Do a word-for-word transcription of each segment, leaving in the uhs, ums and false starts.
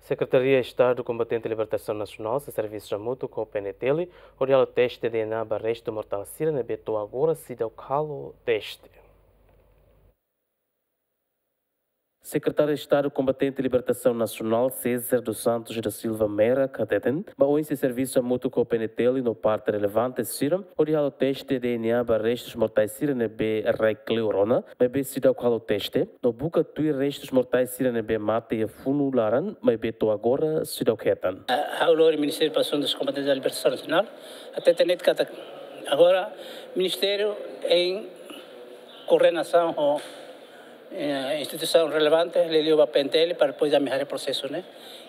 Sekretaria Estadu Kombatente Libertasaun Nasionál sei servisu hamutuk ho P N T L hodi halo teste D N A ba restu mortál sira ne'ebé to'o agora seidauk halo teste. Sekretáriu Estadu Kombatente Libertasaun Nasionál, César dos Santos da Silva Mera, hateten ba oin sei servisu hamutuk ho P N T L no parte relevante sira hodi halo teste D N A ba restus mortais sira ne'ebé rai kleur ona, maibé seidauk halo teste, no buka tuir restus mortais sira ne'ebé mate iha funu laran, maibé to'o agora seidauk hetan. Ha'u lori Ministériu ba Asuntus Kombatentes da Libertasaun Nasionál, hateten de'it katak agora Ministériu em koordenasaun ho eh, instituisaun relevante, liuliu ba P N T L, para depois ami haree prosesu ne'e.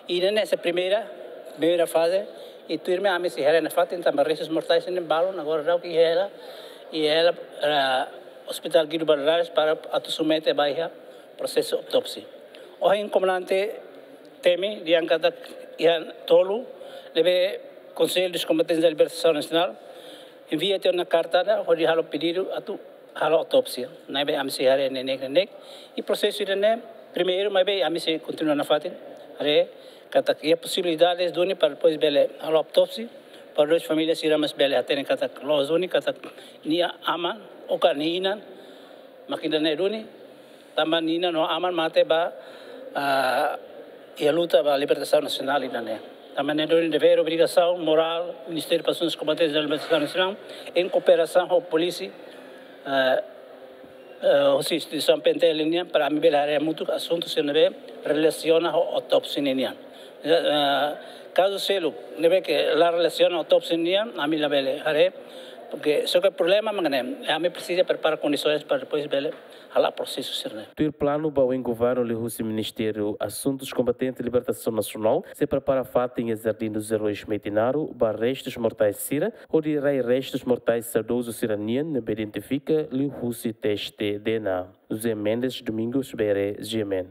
I ne'e ne'e sai primeira, primeira faze, i tuirmai ami sei haree nafatin, tanba restus mortais ne'e balun agora daudauk iha hela, iha hela, eh, Hospital Guido Valadares para atu submete ba iha prosesu autópsia. Ohin komandante temi dehan katak iha tolu ne'ebé Conselho dos Combatentes da Libertação Nacional envia tiha ona karta ida hodi halo pedidu atu halo autópsia. Ne'ebé ami sei haree neineik neineik. I prosesu ida-ne'e primeiru, maibé ami sei kontinua nafatin haree katak iha posibilidades duni para depois bele halo autópsia, para depois família sira mós bele hatene katak loos duni katak nia aman ou ka nia inan mak ida-ne'e duni, tanba nia inan no aman mate ba, ah, iha luta ba libertasaun nasionál ida-ne'e. Tanba ne'e duni devér, obrigasaun morál Ministériu ba Asuntus Kombatentes da Libertasaun Nasionál, em kooperasaun ho polísia, eh, eh, hosi instituisaun P N T L nian, para ami bele haree hamutuk asuntu sira ne'ebé relasiona ho autópsia ninian. Eh, kazu seluk ne'ebé ke la relasiona autópsia nian, ami labele haree, porque só ke problema mak ne'e, ami presiza prepara kondisoens para depois bele hala'o prosesu sira-ne'e. Tuir planu ba oin, governu liuhusi Ministériu Asuntus Kombatentes Libertasaun Nasionál sei prepara fatin iha Jardim dos Heróis Metinaro ba restus mortais sira, hodi rai restus mortais saudozu sira-nian ne'ebé identifika liuhusi teste D N A. José Mendes, Domingos Bere, G M N.